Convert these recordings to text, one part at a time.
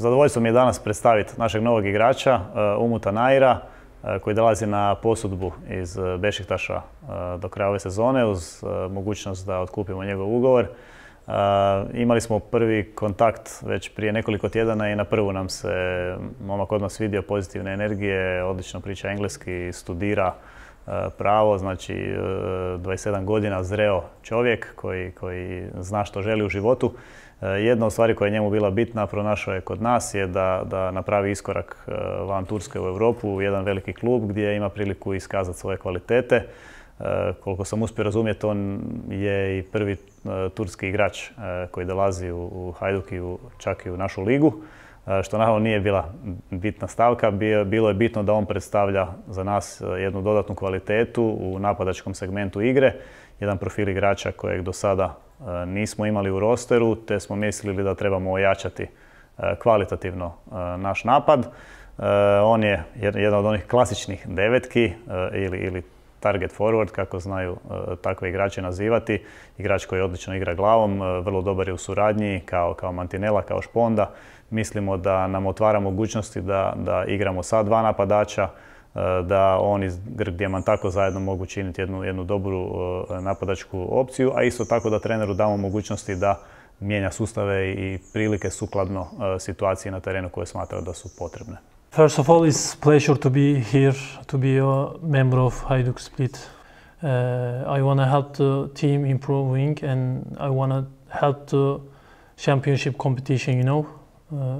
Zadovoljstvo mi je danas predstaviti našeg novog igrača, Umuta Naira, koji dolazi na posudbu iz Bešiktaša do kraja ove sezone uz mogućnost da otkupimo njegov ugovor. Imali smo prvi kontakt već prije nekoliko tjedana i na prvu nam se momak odmah svidio, pozitivne energije, odlično priča engleski, studira pravo, znači 27 godina zreo čovjek koji zna što želi u životu. Jedna od stvari koja je njemu bila bitna, pronašao je kod nas, je da napravi iskorak van Turske u Europu, u jedan veliki klub gdje ima priliku iskazati svoje kvalitete. Koliko sam uspio razumjeti, on je i prvi turski igrač koji dolazi u Hajduk i čak i u našu ligu, što naravno nije bila bitna stavka. Bilo je bitno da on predstavlja za nas jednu dodatnu kvalitetu u napadačkom segmentu igre, jedan profil igrača kojeg do sada nismo imali u rosteru, te smo mislili da trebamo ojačati kvalitativno naš napad. On je jedan od onih klasičnih devetki ili target forward, kako znaju takve igrače nazivati. Igrač koji odlično igra glavom, vrlo dobar je u suradnji, kao Mantinela, kao Šponda. Mislimo da nam otvara mogućnosti da igramo sa dva napadača, da on i Grk Diamantako zajedno mogu činiti jednu dobru napadačku opciju, a isto tako da treneru damo mogućnosti da mijenja sustave i prilike sukladno situaciji na terenu koje smatra da su potrebne. First of all, it's a pleasure to be here, to be a member of Hajduk Split. I want to help the team improving and I want to help the championship competition, you know.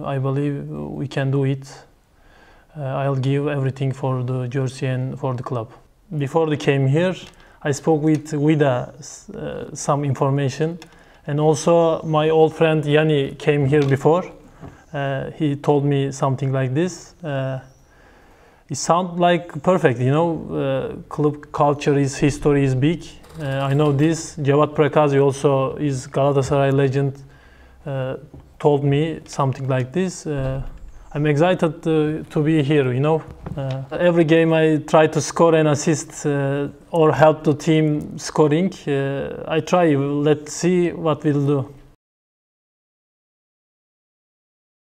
I believe we can do it. I'll give everything for the jersey and for the club. Before they came here, I spoke with Vida some information, and also my old friend Yanni came here before. He told me something like this. It sounds like perfect, you know. Club culture, history is big. I know this. Cevat Prakazi also is Galatasaray legend. Told me something like this. I'm excited to be here, you know. Every game I try to score and assist or help the team scoring. I try, let's see what we'll do.